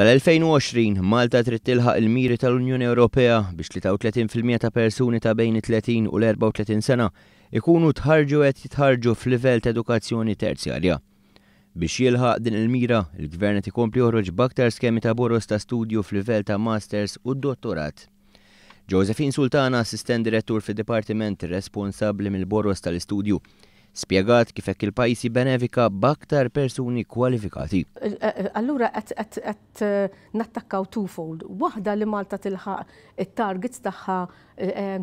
Sal-2020, Malta trid tilħaq il-miri tal-Unjoni Ewropea biex 33% ta' persuni ta' bejn it-30 u l-34 sena ikunu tħarrġu qed jitħarrġu f'livell ta' edukazzjoni terzjarja. Biex jilħaq din il-mira, il-Gvern qed ikompli joħroġ b'aktar skemi ta' boroż ta' studju f'livell ta' Masters u Dottorat. Josephine Sultana, Assistent Direttur fid-Dipartiment responsabbli mill-boroż tal-istudju, spjegat kif hekk il-pajjiż jibbenefika b'aktar persuni kwalifikati. Allura qed nattakkaw twofold. Waħda li Malta tilħaq it-targets tagħha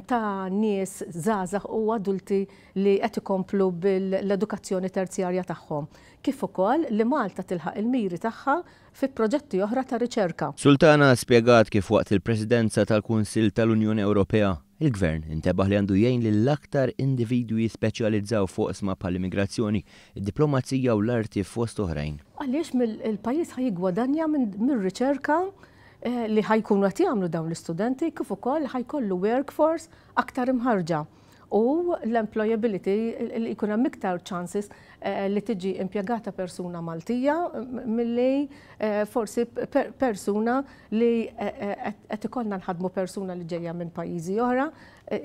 ta' nies żgħażagħ u adulti li qed ikomplu bil-edukazzjoni terzjarja tagħhom, kif ukoll li Malta tilħaq il-miri tagħha fi proġetti oħra ta' riċerka. Sultana spjegat kif waqt il-Presidenza tal-Kunsill tal-Unjoni Ewropea, il-Gvern intebaħ li għandu jgħin lil aktar individwi jispeċjalizzaw f'oqsma bħall-immigrazzjoni, id-diplomazija u l-arti fost oħrajn. Għaliex il-pajjiż ħa jiggwadanja mir-riċerka li ħa jkunu qed jagħmlu dawn l-istudenti kif ukoll ħa jkollu workforce aktar imħarrġa u l-employability li jkun hemm iktar chances li tiġi impjegata persuna Maltija milli forsi persuna li qed ikollna nħaddmu persuna li ġejja minn pajjiżi oħra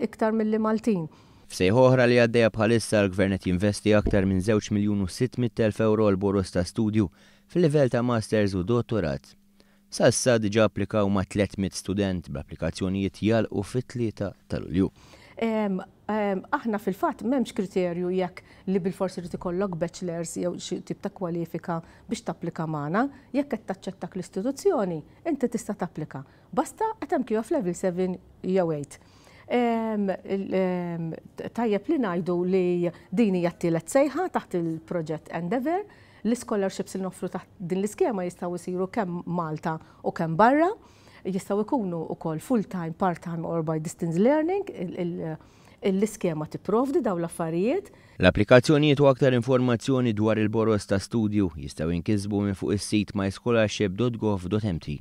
iktar milli Maltin. F'sejħa oħra li għaddejja bħalissa l-Gvern qed jinvesti aktar minn żewġ miljun u 600,000 ewro għal boroż ta' studju fil-livell ta' Masters u Dottorat. Sa issa diġà applikaw ma' 300 student bl-applikazzjonijiet jagħlqu fit-3 ta' Lulju. Aħna fil-fatt m'hemmx kriterju jekk li bilfors irid ikollok bachelors jew xi tip ta' kwalifika biex tapplika magħna. Jekk qed taċċettak l-istituzzjoni, inti tista' tapplika. Basta qed hemm QF level 7 jew 8. Tajjeb li ngħidu li din hija t-tielet sejħa taħt il-proġett Endeavour. L-ischolarships li noffru taħt din l-iskema jistgħu jsiru kemm Malta u kemm barra. Jistgħu jkunu wkoll full-time, part-time or by distance learning. L-iskema tipprovdi dawn l-affarijiet. L-applikazzjonijiet u aktar informazzjoni dwar il-boroż ta' studju jistgħu jinkisbu minn fuq is-sit myscholarship.gov.mt.